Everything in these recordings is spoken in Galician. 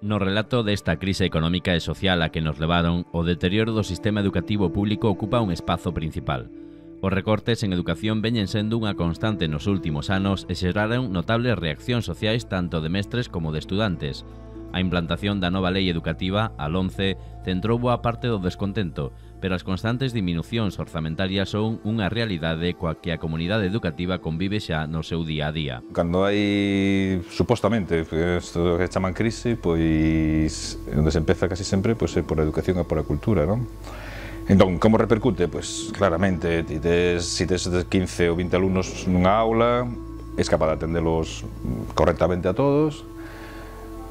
No relato desta crise económica e social a que nos levaron, o deterioro do sistema educativo público ocupa un espazo principal. Os recortes en educación veñen sendo unha constante nos últimos anos e xeraron notables reaccións sociais tanto de mestres como de estudantes. A implantación da nova lei educativa, a LOMCE, centrou boa parte do descontento, pero as constantes diminucións orzamentarias son unha realidade coa que a comunidade educativa convive xa no seu día a día. Cando hai, supostamente, isto que chaman crise, pois onde se empeza casi sempre pois, é por a educación e por a cultura, non? Entón, como repercute? Pois claramente, se tes 15 ou 20 alumnos nunha aula, és capaz de atendelos correctamente a todos,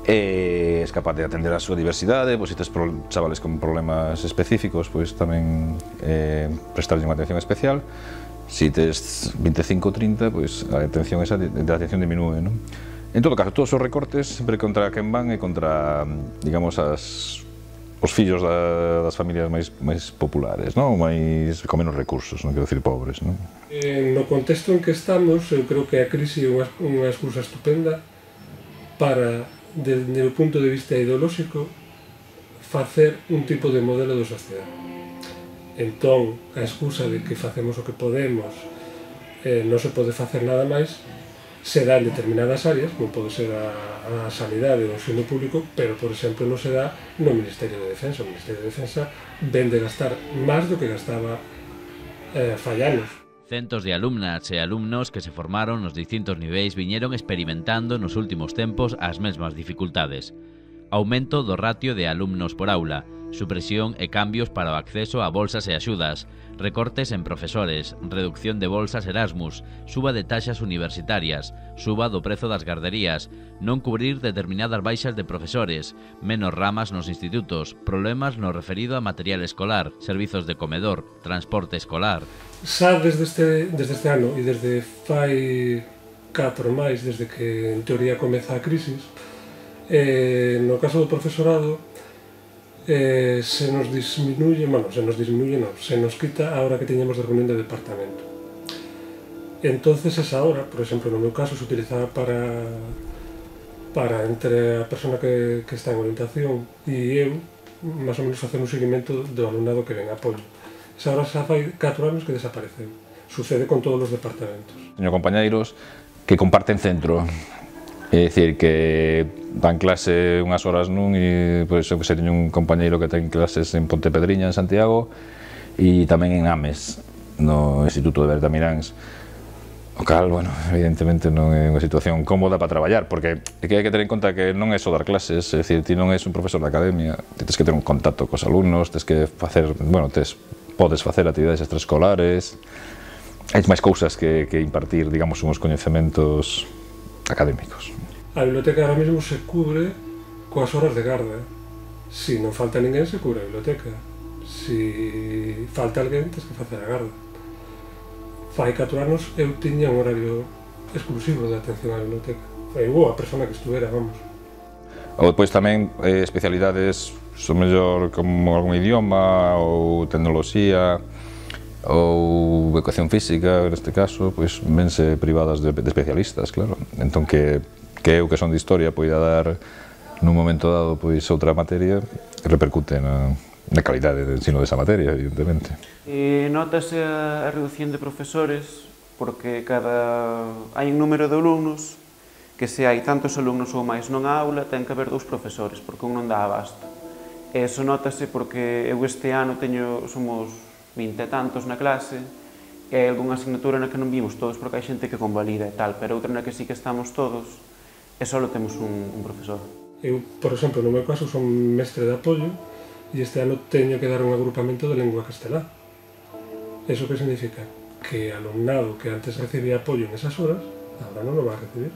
és capaz de atender a súa diversidade, pois se tes chavales con problemas específicos, pois tamén prestarlle unha atención especial. Se tes 25 ou 30, pois a atención diminúe, non? En todo caso, todos os recortes sempre contra quen van e contra, digamos, os fillos das familias máis populares, non? Máis con menos recursos, non quero dicir pobres, non? No contexto en que estamos, eu creo que a crise é unha excusa estupenda para, desde o punto de vista ideolóxico, facer un tipo de modelo de sociedade. Entón, a excusa de que facemos o que podemos, non se pode facer nada máis, se dá en determinadas áreas, como pode ser a sanidade ou o ensino público, pero, por exemplo, non se dá no Ministerio de Defensa. O Ministerio de Defensa ven de gastar máis do que gastaba fai anos. Centos de alumnas e alumnos que se formaron nos distintos niveis viñeron experimentando nos últimos tempos as mesmas dificultades. Aumento do ratio de alumnos por aula, supresión e cambios para o acceso a bolsas e axudas, recortes en profesores, reducción de bolsas Erasmus, suba de taxas universitarias, suba do prezo das garderías, non cubrir determinadas baixas de profesores, menos ramas nos institutos, problemas no referido a material escolar, servizos de comedor, transporte escolar. Xa desde este ano e desde fai 4 máis, desde que en teoría comeza a crisis, no caso do profesorado, se nos quita a hora que teñamos de reunión de departamento. Entonces esa hora, por exemplo, no meu caso, se utilizaba para entre a persona que está en orientación e eu, máis ou menos facer un seguimento do alumnado que ven a apoio. Esa hora xa fai 4 anos que desapareceu. Sucede con todos os departamentos. Teño compañeiros que comparten centro. É dicir, que dan clase unhas horas nun e, pois, eu que sei, teño un compañeiro que ten clases en Pontepedriña, en Santiago, e tamén en Ames, no Instituto de Bertamiráns. O cal, bueno, evidentemente non é unha situación cómoda para traballar, porque hai que ter en conta que non é só dar clases, é dicir, ti non és un profesor de academia, tens que ter un contacto cos alumnos, tens que facer, bueno, podes facer actividades extraescolares, hai máis cousas que impartir, digamos, uns coñecementos académicos. A biblioteca ahora mesmo se cubre coas horas de garda. Se non falta ninguén, se cubre a biblioteca. Se falta alguén, tens que facer a garda. Fai 4 anos eu tiña un horario exclusivo de atención á biblioteca. Eu a persona que estuvera, vamos. Ou depois tamén especialidades, son mellor como algún idioma ou tecnoloxía ou educación física, neste caso, pois vense privadas de especialistas, claro. Entón que eu que son de historia poida dar nun momento dado pois outra materia, repercute na calidade de ensino desa materia, evidentemente. Notase a reducción de profesores porque hai un número de alumnos que se hai tantos alumnos ou máis nunha aula ten que haber 2 profesores porque un non dá abasto. Eso notase porque eu este ano somos 20 e tantos na clase e hai algunha asignatura na que non vimos todos porque hai xente que convalida e tal, pero outra na que sí que estamos todos e só temos un profesor. Eu, por exemplo, no meu caso, son mestre de apoio e este ano teño que dar un agrupamento de lengua castelá. Eso que significa? Que alumnado que antes recibía apoio en esas horas, agora non o va a recibir.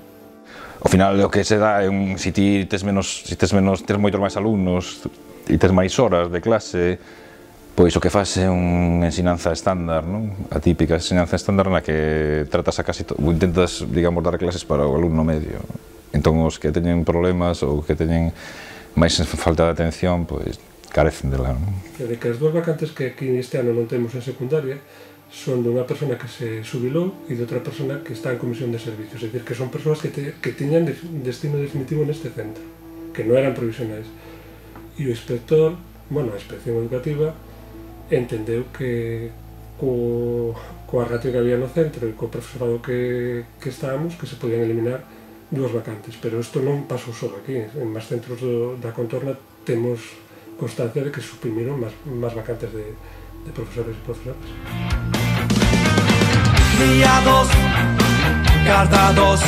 Ao final, o que se dá é se ti tes moitos máis alumnos e tes máis horas de clase, pois o que faz é unha ensinanza estándar, non? A típica ensinanza estándar na que tratas a casi todo, intentas, digamos, dar clases para o alumno medio. Entón, os que teñen problemas ou que teñen máis falta de atención, pois carecen dela, non? De que as 2 vacantes que aquí este ano non temos en secundaria son de unha persona que se xubilou e de outra persona que está en comisión de servicios, é dicir, que son persoas que tiñan destino definitivo neste centro, que non eran provisionais. E o inspector, bueno, a inspección educativa, entendeu que coa ratio que había no centro e co profesorado que estábamos, que se podían eliminar 2 vacantes, pero isto non pasou só aquí. En máis centros da contorna temos constancia de que suprimiron máis vacantes de profesores e profesoras. Guiados, guardados,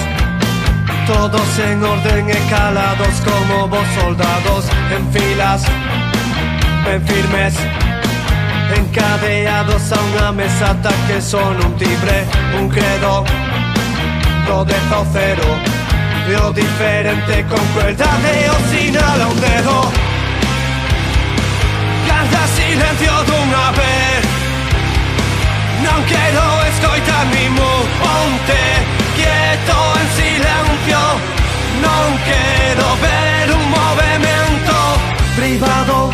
todos en orden e calados como vos soldados, en filas, ben firmes, encadeados a unha mesa ata que son un timbre, un credo, do 10 ao 0, e o diferente con crueldade o sinala un dedo. Garda silencio dunha vez, non quero escoitar ningún ponte quieto en silencio, non quero ver un movimento privado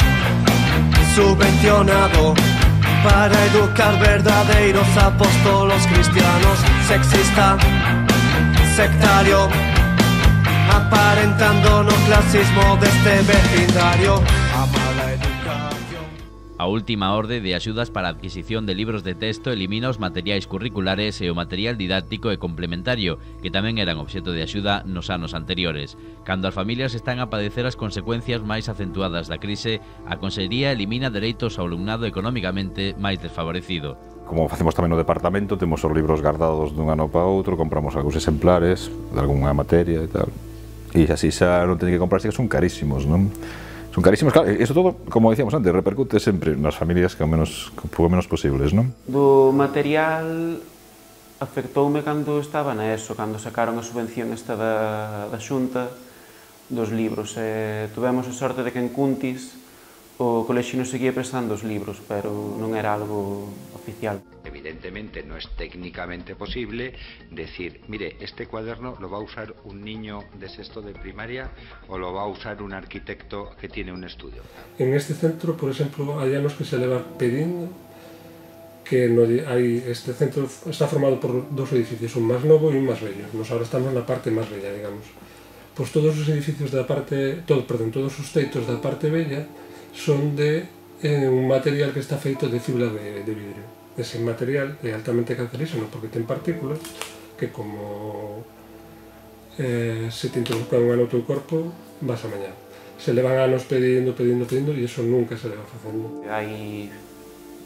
subvencionado para educar verdadeiros apóstolos cristianos, sexista, sectario, aparentando no clasismo deste vecindario, a mala educación. A última orde de axudas para a adquisición de libros de texto elimina os materiais curriculares e o material didáctico e complementario, que tamén eran obxecto de axuda nos anos anteriores. Cando as familias están a padecer as consecuencias máis acentuadas da crise, a Consellería elimina dereitos ao alumnado economicamente máis desfavorecido. Como facemos tamén no departamento, temos os libros guardados dun ano para outro, compramos algúns exemplares de algunha materia e tal. E así xa non teñen que comprarse, que son carísimos, non? Son carísimos, claro, iso todo, como dicíamos antes, repercute sempre nas familias que ao menos posibles, non? Do material afectoume cando estaba na ESO, cando sacaron a subvención esta da Xunta dos libros. Tuvemos a sorte de que en Cuntis o colexio non seguía prestando os libros, pero non era algo oficial. Evidentemente no es técnicamente posible decir, mire, este cuaderno lo va a usar un niño de sexto de primaria o lo va a usar un arquitecto que tiene un estudio. En este centro, por exemplo, hai anos que se leva pedindo que este centro está formado por 2 edificios, un máis novo e un máis vello. Nos ahora estamos na parte máis bella, digamos. Pois todos os edificios todos os teitos da parte bella son de un material que está feito de fibra de vidrio. Ese material é altamente cancerígeno porque ten partículas que como se te introduzcan no teu corpo vas a mañar. Se levan anos pedindo e iso nunca se leva facendo. Hai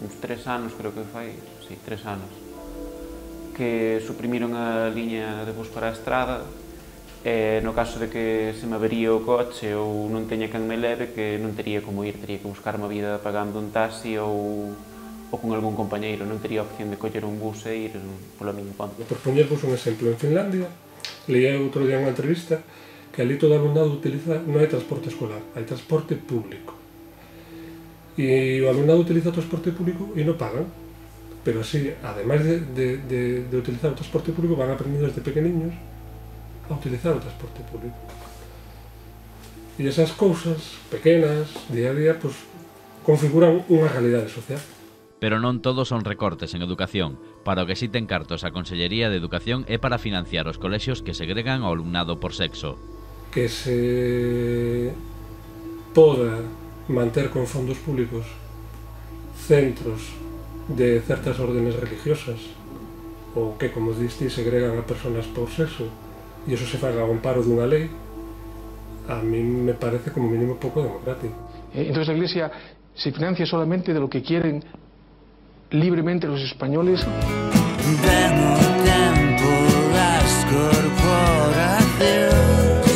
uns 3 anos, creo que fai, sí, 3 anos, que suprimiron a liña de bus para a estrada. No caso de que se me avería o coche ou non teña quen me leve, que non tería como ir, tería que buscarme a vida pagando un taxi ou con algún compañeiro, non tería opción de coller un bus e ir polo miño ponte. Por poñervos un exemplo, en Finlandia, leía outro día unha entrevista que ali todo o alumnado utiliza, non hai transporte escolar, hai transporte público. E o alumnado utiliza o transporte público e non pagan, pero así, ademais de utilizar o transporte público, van aprendiendo desde pequeniños a utilizar o transporte público. E esas cousas pequenas, día a día, pues, configuran unha realidade social. Pero non todos son recortes en educación. Para o que si ten cartos a Consellería de Educación é para financiar os colexios que segregan ao alumnado por sexo. Que se poda manter con fondos públicos centros de certas órdenes religiosas ou que, como diste, segregan a personas por sexo e iso se faga ao amparo dunha lei, a mí me parece como mínimo pouco democrático. Entonces la Iglesia se financia solamente de lo que quieren libremente los españoles. Demo tempo das corporacións,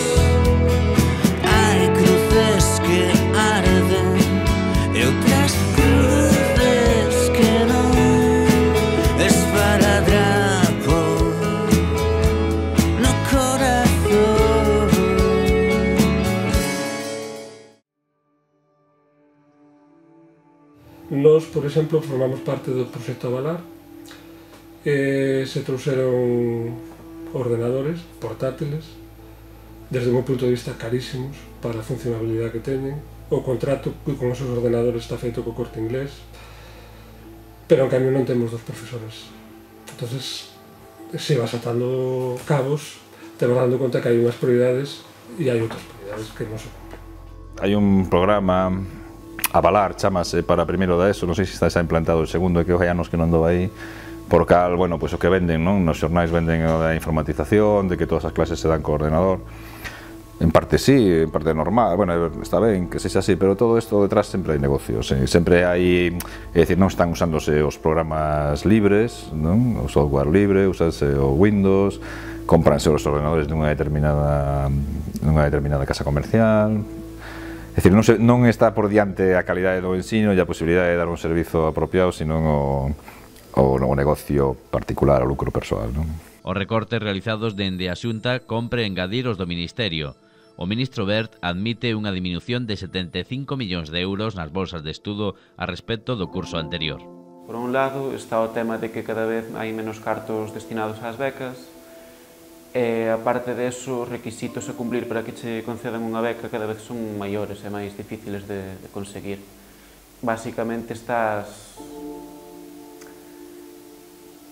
hai cruces que arden e outras cruces que non, esparadrapo no corazón. Nós, por exemplo, formamos parte do proxecto Avalar. Se trouxeron ordenadores portátiles, desde o meu punto de vista carísimos para a funcionabilidade que teñen. O contrato con esos ordenadores está feito co Corte Inglés, pero en cambio non temos 2 profesores. Entonces, se vas atando cabos, te vas dando conta que hai unhas prioridades e hai outras prioridades. realidades que non se cumplen. Hai un programa Avalar, chamase, para primeiro da ESO, non sei se está xa implantado o segundo, é que hai anos que non dou aí, por cal, bueno, pois o que venden, non? Nos xornais venden a informatización, de que todas as clases se dan co ordenador. En parte sí, en parte normal, bueno, está ben que sexa así, pero todo isto detrás sempre hai negocios, sempre hai, é dicir, non están usándose os programas libres, non? O software libre, usase o Windows, compranse os ordenadores dunha determinada casa comercial. É dicir, non está por diante a calidade do ensino e a posibilidade de dar un servizo apropiado, senón o negocio particular, o lucro persoal, non? Os recortes realizados dende a Xunta compre engadir os do Ministerio. O ministro Wert admite unha diminución de 75 millóns de euros nas bolsas de estudo a respecto do curso anterior. Por un lado está o tema de que cada vez hai menos cartos destinados ás becas e, aparte deso, os requisitos a cumplir para que che concedan unha beca cada vez son maiores e máis difíciles de conseguir. Básicamente estás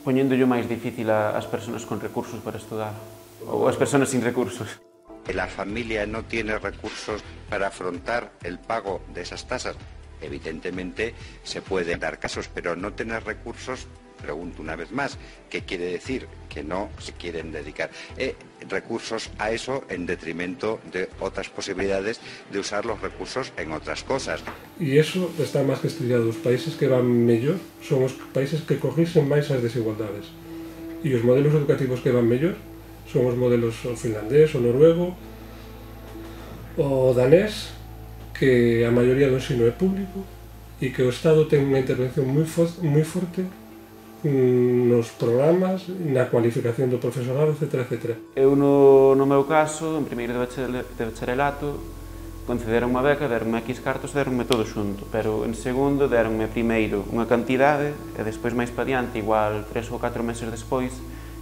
poñéndollo máis difícil ás persoas con recursos para estudar ou ás persoas sin recursos. La familia no tiene recursos para afrontar el pago de esas tasas. Evidentemente se pueden dar casos, pero no tener recursos, pregunto una vez más, ¿qué quiere decir? Que no se quieren dedicar recursos a eso en detrimento de otras posibilidades de usar los recursos en otras cosas. E iso está máis que estudiado. Os países que van mellor son os países que corrixen máis as desigualdades. E os modelos educativos que van mellor son os modelos o finlandés, o noruego, o danés, que a maioría do ensino é público e que o Estado ten unha intervención moi forte nos programas, na cualificación do profesorado, etc. etc. Eu, no meu caso, en primeiro de bacharelato, concederon unha beca, deronme X cartos, deronme todo xunto, pero en segundo deronme primeiro unha cantidade e despois máis pa diante, igual 3 ou 4 meses despois,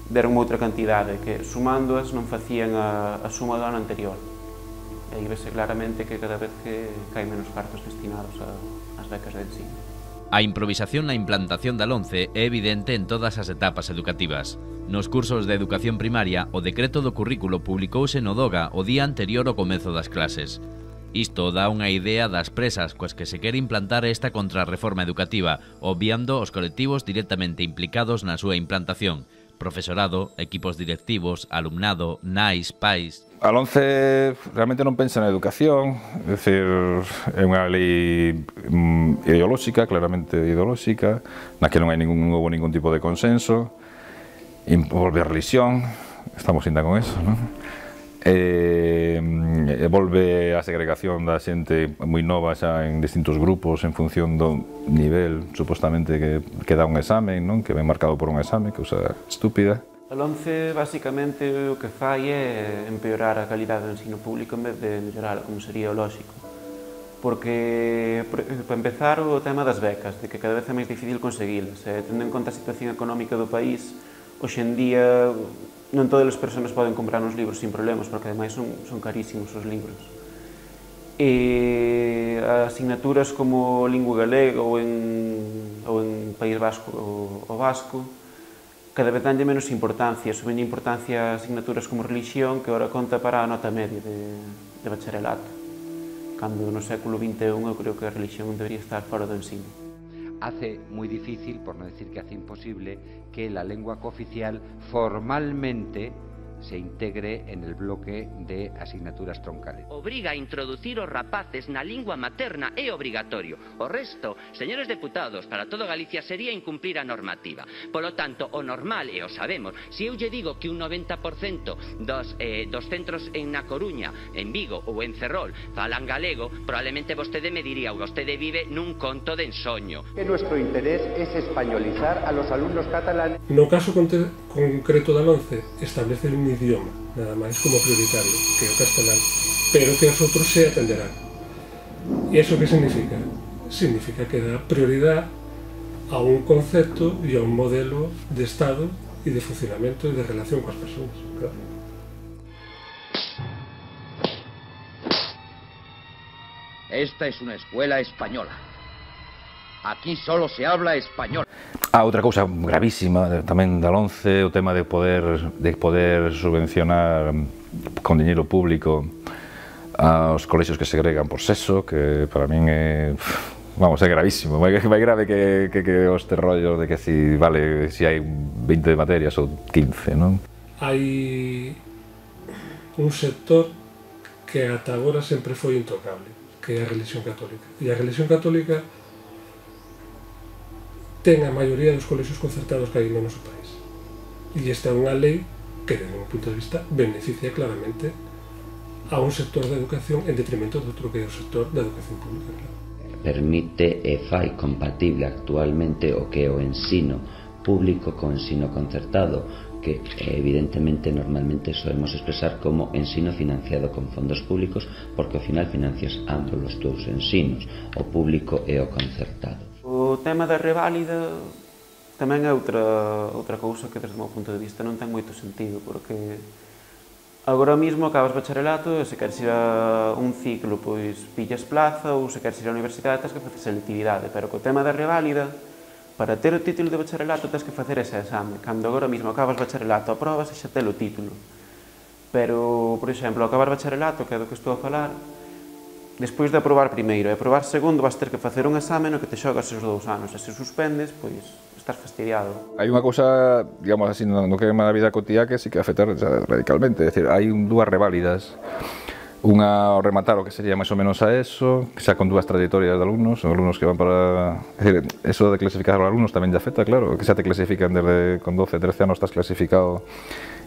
deronme outra cantidade que, sumándoas, non facían a suma do ano anterior. E aí vese claramente que cada vez que hai menos cartos destinados ás becas de ensino. A improvisación na implantación da LOMCE é evidente en todas as etapas educativas. Nos cursos de educación primaria, o decreto do currículo publicouse no DOGA o día anterior ao comezo das clases. Isto dá unha idea das presas coas que se quere implantar esta contrarreforma educativa, obviando os colectivos directamente implicados na súa implantación: profesorado, equipos directivos, alumnado, nais, pais. A LOMCE realmente non pensa na educación, é dicir, é unha lei ideolóxica, claramente ideolóxica, na que non houve ningún tipo de consenso, volve a religión, estamos ainda con eso, non? Volve a segregación da xente moi nova xa en distintos grupos en función do nivel, supostamente, que dá un examen, non? Que ven marcado por un examen, cousa estúpida. A LOMCE, basicamente, o que fai é empeorar a calidade do ensino público en vez de mellorala, como sería o lóxico. Porque, para empezar, o tema das becas, de que cada vez é máis difícil conseguilas. Tendo en conta a situación económica do país, hoxe en día non todas as persoas poden comprar uns libros sin problemas, porque ademais son carísimos os libros. E asignaturas como lingua galega ou en País Vasco o vasco, cada vez danlle menos importancia, subenlle importancia a asignaturas como religión, que ahora conta para a nota media de bacharelato. Cando no século XXI eu creo que a religión debería estar fora do ensino. Hace muy difícil, por no decir que hace imposible, que la lengua cooficial formalmente se integre en el bloque de asignaturas troncales. Obriga a introducir os rapaces na lingua materna é obrigatorio. O resto, señores deputados, para todo Galicia sería incumplir a normativa. Polo tanto, o normal, e o sabemos, se eu lle digo que un 90% dos centros na Coruña, en Vigo ou en Ferrol falan galego, probablemente vostede me diría, vostede vive nun conto de ensoño. Que nuestro interés es españolizar a los alumnos catalanes. No caso concreto da LOMCE, establece un idioma, nada máis como prioritario, que é o castelán, pero que os outros se atenderán. E iso que significa? Significa que dá prioridade a un concepto e a un modelo de Estado e de funcionamento e de relación coas persoas. Claro. Esta es una escuela española. Aquí solo se habla español. Outra cousa gravísima tamén da LOMCE, o tema de poder subvencionar con diñeiro público aos colexios que segregan por sexo, que para min é, vamos, é gravísimo, máis grave que os terrollos de que si, vale, si hai 20 materias ou 15, non? Hai un sector que ata agora sempre foi intocable, que é a religión católica. E a religión católica ten a maioría dos colexios concertados que hai no noso país. E esta é unha lei que, desde un punto de vista, beneficia claramente a un sector da educación en detrimento do outro que é o sector da educación pública. Permite e fai compatible actualmente o que é o ensino público co ensino concertado, que evidentemente normalmente solemos expresar como ensino financiado con fondos públicos, porque ao final financias ambos os teus ensinos, o público e o concertado. O tema da reválida tamén é outra cousa que desde o meu punto de vista non ten moito sentido, porque agora mesmo acabas bacharelato e se queres ir a un ciclo, pois pillas plaza, ou se queres ir á universidade tens que facer selectividade, pero co tema da reválida, para ter o título de bacharelato tens que facer ese exame, cando agora mesmo acabas bacharelato, aprobas e xa tes o título. Pero, por exemplo, acabar bacharelato, que é do que estou a falar, despois de aprobar primeiro e aprobar segundo vas ter que facer un exame no que te xogas os 2 anos, e se suspendes, pois estás fastidiado. Hai unha cousa, digamos así, no que é na vida cotiá que sí que afecta radicalmente, é dicir, hai dúas reválidas, unha ao rematar o que sería máis ou menos a ESO, que xa con dúas trayectorias de alumnos, son alumnos que van para... É dicir, eso de clasificar os alumnos tamén lle afecta, claro, que xa te clasifican desde con 12, 13 anos estás clasificado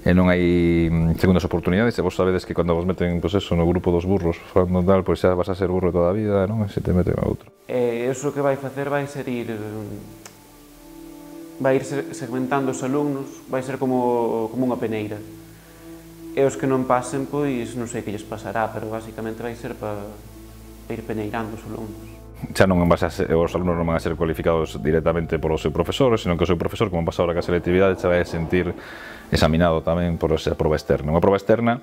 e non hai segundas oportunidades, e vos sabedes que cando vos meten, pois eso, no grupo dos burros, falando tal, pois xa vas a ser burro toda a vida, non? E se te meten a outro. E iso que vai facer vai ser vai ir segmentando os alumnos, vai ser como unha peneira. E os que non pasen, pois non sei que lles pasará, pero basicamente vai ser para ir peneirando os alumnos. Xa non vas a ser, os alumnos non van a ser cualificados directamente polo seu profesor, senón que o seu profesor, como pasa ahora que a selectividade, se vai a sentir examinado tamén por esa proba externa. Unha proba externa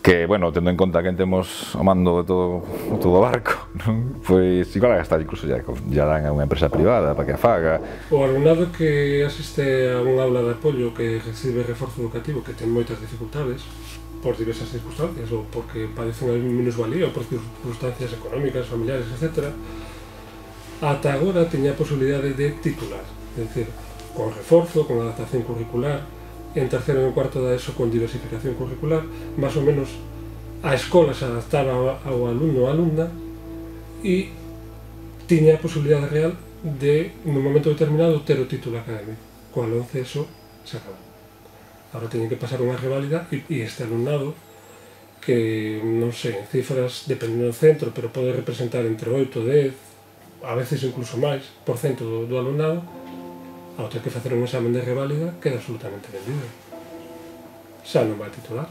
que, bueno, tendo en conta que temos o mando de todo o barco, non? Pois igual a gastar incluso ya dan a unha empresa privada para que a faga. O alumnado que asiste a un aula de apoio que recibe reforzo educativo, que ten moitas dificultades por diversas circunstancias, ou porque padecen a minusvalía, ou por circunstancias económicas, familiares, etc., ata agora teña a posibilidade de titular, é dicir, con reforzo, con adaptación curricular, en terceiro e en cuarto da ESO con diversificación curricular, máis ou menos a escola se adaptaba ao alumno ou alumna e tiña a posibilidade real de, nun momento determinado, ter o título académico. Coa 11 ESO se acabou. Agora teñen que pasar unha reválida e este alumnado, que non sei, en cifras, dependendo do centro, pero pode representar entre 8 e 10, a veces incluso máis, por cento do alumnado, ao ter que facer un examen de reválida, queda absolutamente vendido. Xa non vai titular.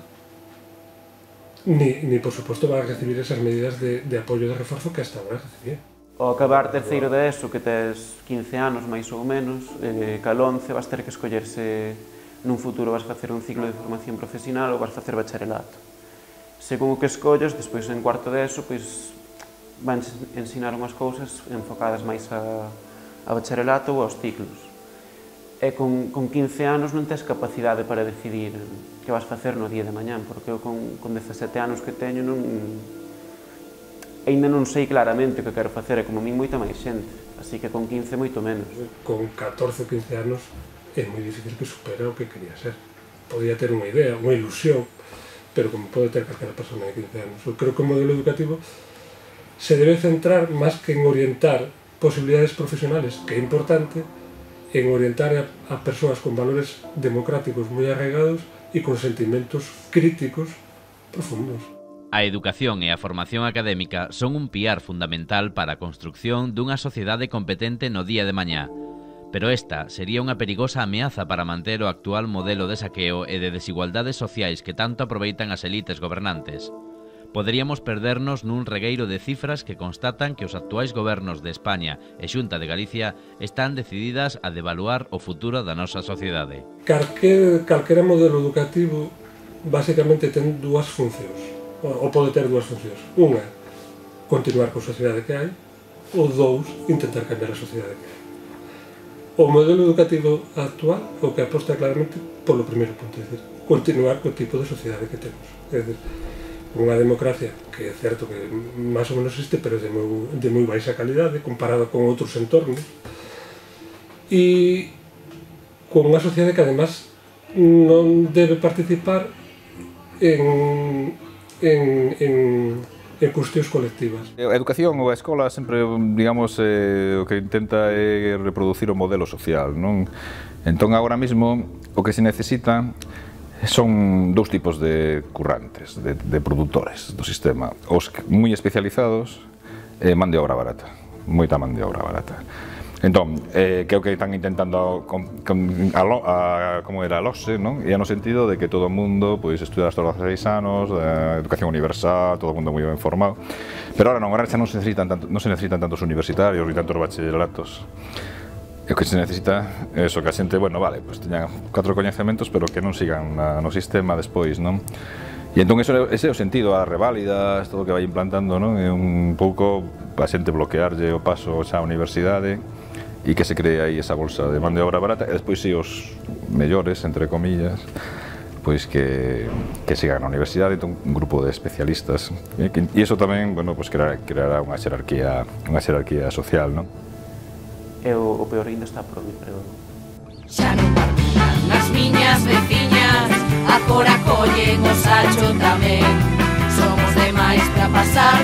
Ni por suposto, vai recibir esas medidas de apoio de reforzo que hasta agora recibía. Ao acabar terceiro de ESO, que tes 15 anos, máis ou menos, cal 11 vas ter que escollerse nun futuro vas facer un ciclo de formación profesional ou vas facer bacharelato. Según o que escollas, despois en cuarto de ESO, pois van ensinar unhas cousas enfocadas máis a bacharelato ou aos ciclos. E con 15 anos non tes capacidade para decidir que vas facer no día de mañán, porque eu con 17 anos que teño ainda non sei claramente o que quero facer, e como a min moita máis xente, así que con 15 moito menos. Con 14 ou 15 anos é moi difícil que supera o que quería ser. Podía ter unha idea, unha ilusión, pero como pode ter calquera persona de 15 anos. Eu creo que o modelo educativo se debe centrar máis que en orientar posibilidades profesionales, que é importante, en orientar a persoas con valores democráticos moi arraigados e con sentimentos críticos profundos. A educación e a formación académica son un piar fundamental para a construcción dunha sociedade competente no día de mañá, pero esta sería unha perigosa ameaza para manter o actual modelo de saqueo e de desigualdades sociais que tanto aproveitan as elites gobernantes. Poderíamos perdernos nun regueiro de cifras que constatan que os actuais gobernos de España e Xunta de Galicia están decididas a devaluar o futuro da nosa sociedade. Calquera modelo educativo basicamente ten dúas funcións, ou pode ter dúas funcións. Unha, continuar coa sociedade que hai, ou dous, intentar cambiar a sociedade que hai. O modelo educativo actual o que aposta claramente polo primeiro punto, é dicir, continuar co tipo de sociedade que temos. É dicir, unha democracia que é certo que máis ou menos existe, pero de moi baixa calidade comparado con outros entornos, e con unha sociedade que además non debe participar en cuestións colectivas. A educación ou a escola sempre, digamos, o que intenta é reproducir o modelo social, non? Entón, agora mesmo, o que se necesita son dous tipos de currantes, de produtores do sistema. Os moi especializados e man de obra barata, moita man de obra barata. Entón, que é o que están intentando como era a LOSE, non? E no sentido de que todo o mundo estuda hasta os 16 anos, a educación universal, todo o mundo moi ben formado. Pero ahora non, agora xa non se necesitan tantos universitarios ni tantos bacharelatos. E o que se necesita é que a xente, bueno, vale, teñan 4 coñecementos, pero que non sigan no sistema despois, non? E entón ese é o sentido, as reválidas, todo o que vai implantando, non? É un pouco a xente bloquearlle o paso xa á universidade e que se cree aí esa bolsa de man de obra barata, e despois si os mellores, entre comillas, pois que sigan na universidade, entón un grupo de especialistas, e iso tamén, bueno, pois creará unha xerarquía social, non? E o peor ainda está por mí, pero... Xa non partillan nas miñas veciñas, agora collen o sacho tamén. Somos demais para pasar